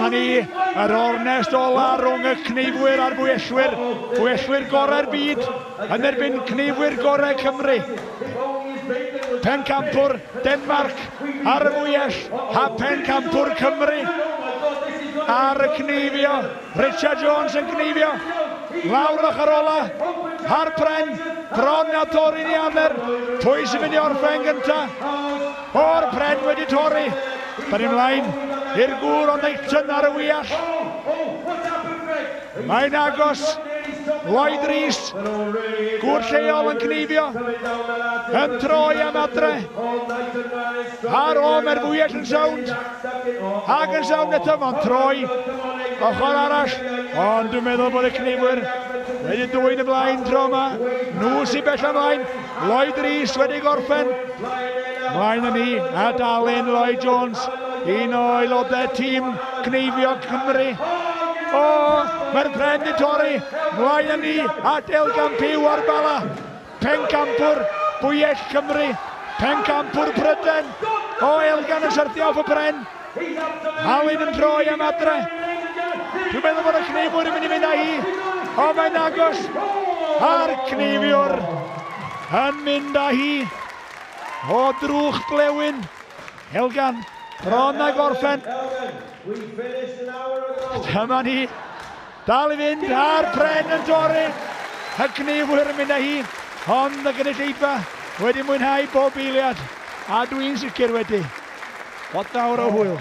Dyma ni, yr ornest ola rhwng y cneifwyr a'r bwyellwyr. Bwyellwyr gorau'r byd yn erbyn cneifwyr gorau Cymru. Pencampwr Denmarc ar y fwyell a pencampwr Cymru ar y cneifio. Richard Jones yn cneifio. Lawr ochr ola, ar pren, bron a torri'n ei amer. Pwy sy'n mynd i orffen gynta? O'r pren wedi torri. Da ni mlaen i'r gŵr o Knighton ar y wyall. Mae'n agos. Lloyd Rees, gŵr lleol yn cneifio, yn troi am adre. Ar o, mae'r fwyell yn sownd. Ac yn sownd eto, mae'n troi ochr arall. Ond dwi'n meddwl bod y cneifwyr wedi dwyn y blaen tro yma. Nhw sy'n bell ymlaen. Lloyd Rees wedi gorffen. Mlaen â ni, a Alun Lloyd Jones, un o aelodau tîm cneifio Cymru. O, mae'r pren di torri. Mlaen â ni, at Elgan Pugh o'r Bala. Pencampwr Bwyell Cymru. Pencampwr Pryden. O, Elgan yn syrthio off y pren. Alun yn troi am adre. Dwi'n meddwl bod y cneifwyr yn mynd i fynd â hi. O, mae'n agos. A'r cneifiwr yn mynd â hi. O drwch blewyn. Elgan, bron a gorffen. Dyma ni. Dal i fynd, a'r pren yn torri. Y cneifwyr yn mynd â hi. Ond y gynulleidfa wedi mwynhau bob eiliad. A dwi'n sicr wedi. Lot fawr o hwyl.